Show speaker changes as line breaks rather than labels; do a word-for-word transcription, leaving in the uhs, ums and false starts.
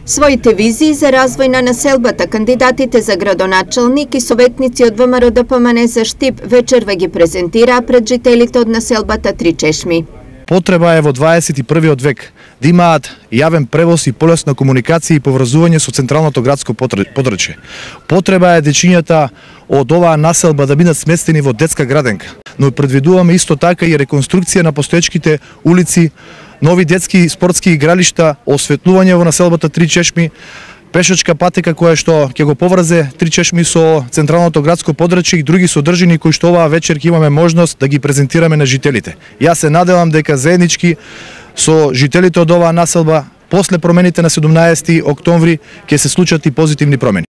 Своите визии за развој на населбата, кандидатите за градоначалник и советници од ВМРО-ДПМН за Штип вечерва ги презентираа пред жителите од населбата Три Чешми.
Потреба е во дваесет и првиот век да имаат јавен превоз и полесна комуникација и поврзување со централното градско подрачје. Потреба е дечињата од оваа населба да бидат сместени во детска граденка, но предвидуваме исто така и реконструкција на постоечките улици, нови детски спортски игралишта, осветлување во населбата Три Чешми, пешачка патека која што ќе го поврзе Три Чешми со централното градско подрачје и други содржини кои што оваа вечер ќе имаме можност да ги презентираме на жителите. Јас се надевам дека заеднички со жителите од оваа населба после промените на седумнаесети октомври ќе се случат и позитивни промени.